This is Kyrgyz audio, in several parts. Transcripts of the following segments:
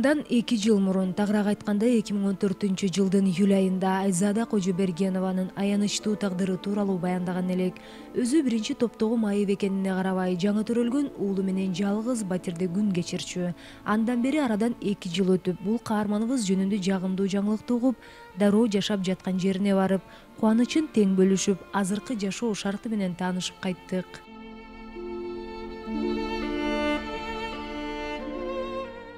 Арадан 2 жыл мурун, тагыраак айтканда 2014-жылдын июль айында Айзада Кожобергенованын аянычтуу тагдыры тууралуу баяндаган элек. Өзү биринчи топтогу майып экенине карабай, жаңы төрөлгөн уулу менен жалгыз батирде күн кечирчү. Андан бери арадан 2 жыл өтүп, бул каарманыбыз жөнүндө жагымдуу жаңылыкты угуп, дароо жашап жаткан жерине барып, кубанычын тең бөлүшүп, азыркы жашоо шарты менен таанышып кайттык.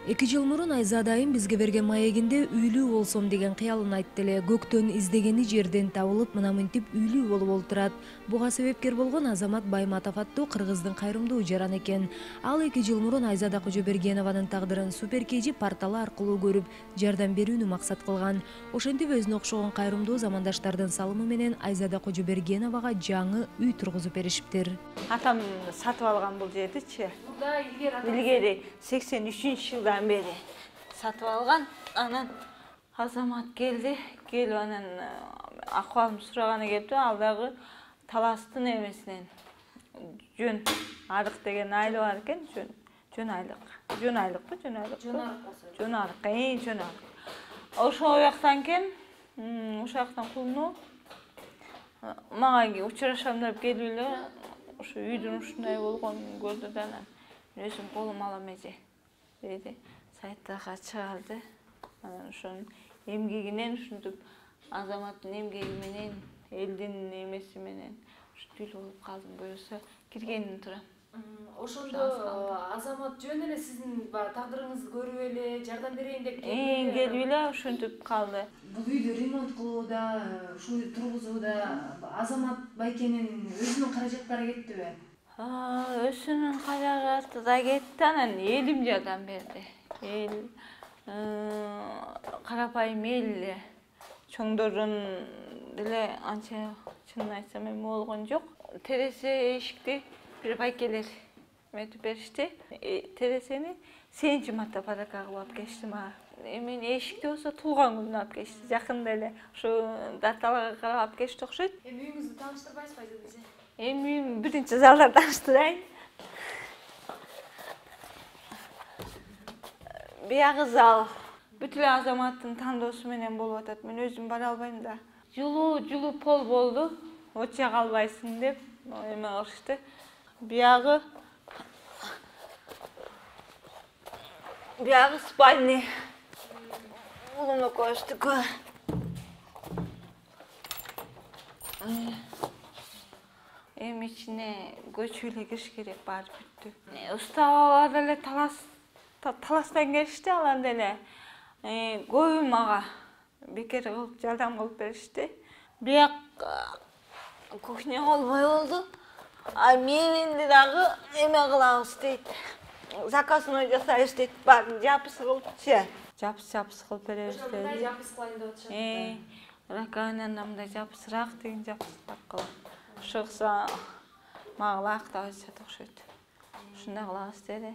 2 жыл мурун Айзада айым бизге берген маегинде үйлүү болсом деген кыялын айтты эле. Көктөн издегени жерден табылып, мына мынтип үйлүү болуп олтурат. Буга себепкер болгон Азамат Байматов аттуу кыргыздын кайрымдуу жаран экен. Ал 2 жыл мурун Айзада Кожобергенованын тагдырын Супер KG порталы аркылуу көрүп, жардам берүүнү максат кылган. Ошентип өзүнө окшогон кайрымдуу замандаштардын салымы менен Айзада Кожобергеновага жаңы үй тургузуп беришиптир. Атам сатып алган бул жердичи. Илгери 83-жылдан бери сатып алган. Анан Азамат келди. Келип анан акыбалымды сураганы келипти. Ал дагы таластын эмесинен жөн арык деген айыл бар экен. Жөн айлык. Жөн айлыкпы? Жөн айлык. Жөн арык болсо. Жөн арык. Жөн арык. Ошол жактан кен, ошол жактан кулунуу. Мага учурашам деп келип эле ошо үйдүн ушундай болгонун көрдү да анан өзүм колум алам эже деди. Сайттага чыгарды. Анан ошонун эмгегинен ушинтип Азаматтын эмгеги менен, элдин эмеси менен ушинтип болуп калдым. Буюрса киргенин турам. Ошондо Азамат жөн эле сиздин тагдырыңызды көрүп эле жардам берейин деп келип эле ушинтип калды. Бул үйдү ремонт кылууда, ушу тургузууда Азамат байкенин өзүнүн каражаттары кеттиби? Өзүнүн каражаты да кетти, анан элим жардам берди. Эл карапайым эл эле. Чоңдордон деле анча чынын айтсам эме болгон жок. Тересе эшикти бир байкелер эметип беришти. Тересени 7 марта подарка кылып алып келишти мага. Эмен эшикти болсо туулган күнүнө алып келишти. Жакында эле ушу даталарга карап алып келишти окшойт. Үйүңүздү тааныштырбайсызбы эже? Эми биринчи залда тааныштырайын. Биягы зал бүт эле Азаматтын тандоосу менен болуп атат. Мен өзүм бара албайм да. Жылуу пол болду. Очак албайсың деп эме кылышты. Биягы спальня. Улуну коштук. Эми ичине көчүп эле кириш керек, баары бүттү. Устава деле таластан келишти, алар деле көбү мага бекер кылып жардам кылып беришти. Бияк кухня болбой болду. Мебелди дагы эме кылабыз дейт. Заказной жасайбыз дейт. Баарын жапыс кылыпчы. Жапыс кылып беребиз дейт. Мындай жапыс кылайын деп атышат. Раковинада мындай жапысыраак деген жапысыраак кылып. Ошо мага ылайыктап атышат окшойт. Ушундай кылабыз деди.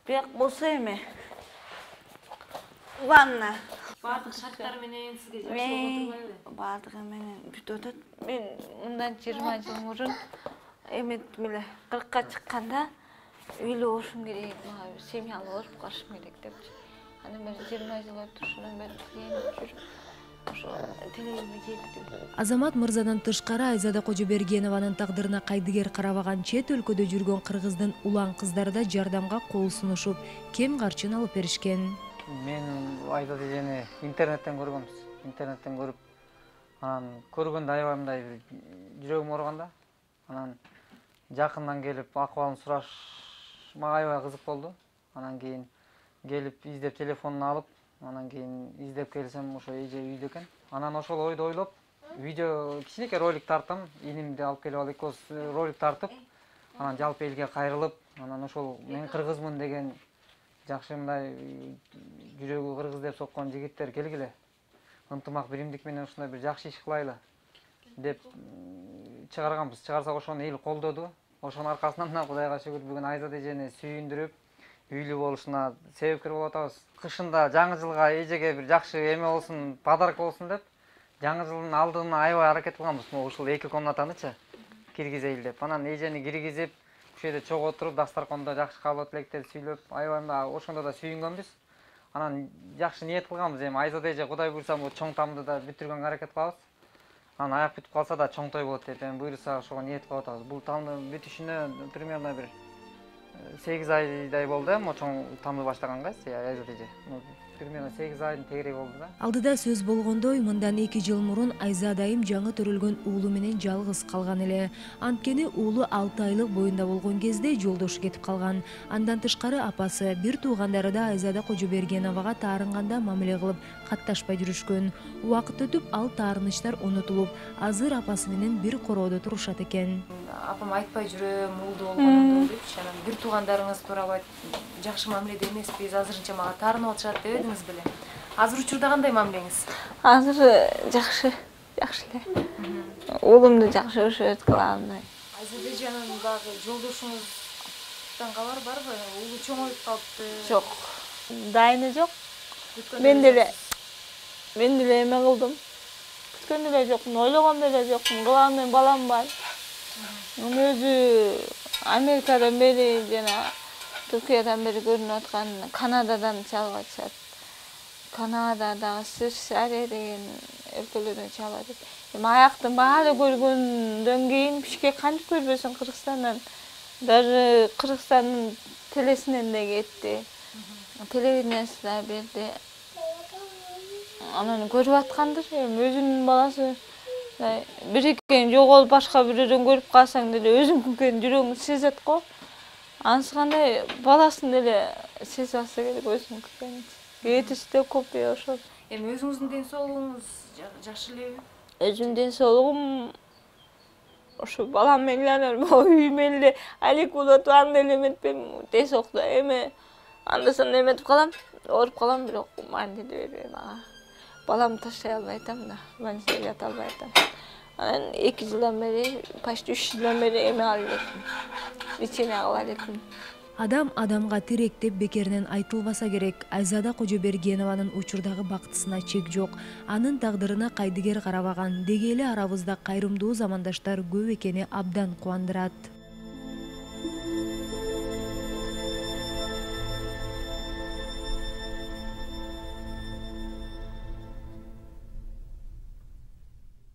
Бияк болсо эме ванна. Баардык шарттар менен сизге жакшы болуп турбайбы? Баардыгы менен бүтүп атат. Мен мындан 20 жыл мурун эметим эле 40ка чыкканда үйлүү болушум керек, мага семьялуу болуп калышым керек депчи. Андан бери 20 жыл өтүп, ушундан бери жүрүп ошо телегиме жеттим. Азамат мырзадан тышкары Айзада Кожобергенованын тагдырына кайдыгер карабаган чет өлкөдө жүргөн кыргыздын улан кыздары да жардамга кол сунушуп, кем карчын алып беришкен. Мен Айзада эжени интернеттен көргөнбүз. Интернеттен көрүп, анан көргөндө аябай мындай жүрөгүм ооруган да. Анан жакындан келип акыбалын сураш мага аябай кызык болду. Анан кийин келип издеп телефонун алып, анан кийин издеп келсем ошо эже үйдө экен. Анан ошол ойду ойлоп, видео кичинекей ролик тарттым. Инимди алып келип алып экөөбүз ролик тартып, анан жалпы элге кайрылып, анан ошол мен кыргызмын деген жакшы мындай жүрөгү кыргыз деп соккон жигиттер келгиле. Ынтымак биримдик менен ушундай бир жакшы иш кылайлы деп чыгарганбыз. Чыгарсак ошону эл колдоду. Ошонун аркасынан мына Кудайга шүгүр бүгүн Айзада эжени сүйүндүрүп, үйлүү болушуна себепкер болуп атабыз. Кышында жаңы жылга эжеге бир жакшы эме болсун, подарка болсун деп, жаңы жылдын алдына аябай аракет кылганбыз. Ушул 2 комнатанычы киргизейли деп. Анан эжени киргизип, ушул жерде чогуу отуруп, дастаркондо жакшы каалоо тилектерди сүйлөп, аябай ошондо да сүйүнгөнбүз. анан жакшы ниет кылганбыз. Эми Айзада эже Кудай буйрса бул чоң тамды да бүтүргөнгө аракет кылабыз. Анан аяк бүтүп калса да чоң той болот деп эми буйрса ошого ниет кылып атабыз. Бул тамдын бүтүшүнө примерно бир 8 айдай болду эми чоң тамды баштаганга. Айзада эже примерно 8 айдын тегереги болду да. Алдыда сөз болгондой, мындан 2 жыл мурун Айзада айым жаңы төрөлгөн уулу менен жалгыз калган эле. Анткени уулу 6 айлык боюнда болгон кезде жолдошу кетип калган. Андан тышкары апасы, бир туугандары да Айзада Кожобергеновага таарынганда мамиле кылып катташпай жүрүшкөн. Убакыт өтүп, ал таарынычтар унутулуп, азыр апасы менен бир короодо турушат экен. Апам айтпай жүрөм, уулду болгонумду депчи, анан бир туугандарыңыз туурабай жакшы мамиледе эмеспиз, азырынча мага таарынып атышат деп эдиңиз беле. Азыр учурда кандай мамилеңиз? Азыр жакшы эле. Уулумду жакшы өшөт кылам. Айзада эже, анан дагы жолдошуңуздан кабар барбы? Уулу чоңоюп калыпты. Жок. Дайыны жок. Мен деле эме кылдым. Күткөн деле жокмун, ойлогон деле жокмун. Кылам, мен балам бар. Өзү Америкадан бери жана Түркиядан бери көрүнүп аткан Канададан чалып атышат. Канададагы Швейцария деген өлкөлөрдөн чалып атат. Эми аяктын баары көргөндөн кийин Бишкек кантип көрбөсүң Кыргызстандан. Даже Кыргызстандын телесинен да кетти. Телевидениесине берди. Анан көрүп аткандыр, эми өзүнүн баласы бир экен жоголуп башка бирөөрдөн көрүп калсаң деле өзүңкүн жүрөгүң сезет го. Анысы кандай баласын деле сезип алса керек өзүңкүн. Кетиште көп ошол. Эми өзүңүздүн ден соолугуңуз жакшы элеби? Өзүмдүн ден соолугум ошо балам менен эле, үйүм эле алек болуп атып, анда эле эметпем, ден соолукта эме анда санда эметип калам, ооруп калам, бирок мандиле бербейм ага. Баламды таштай албай атам да, больницада жата албай атам. Анан 2 жылдан бери, почти 3 жылдан бери эме алып элекмин. Лечение кыла элекмин. Адам адамга тирек деп бекеринен айтылбаса керек. Айзада Кожобергенованын учурдагы бактысына чек жок. Анын тагдырына кайдыгер карабаган. Деги эле арабызда кайрымдуу замандаштар көп экени абдан кубандырат.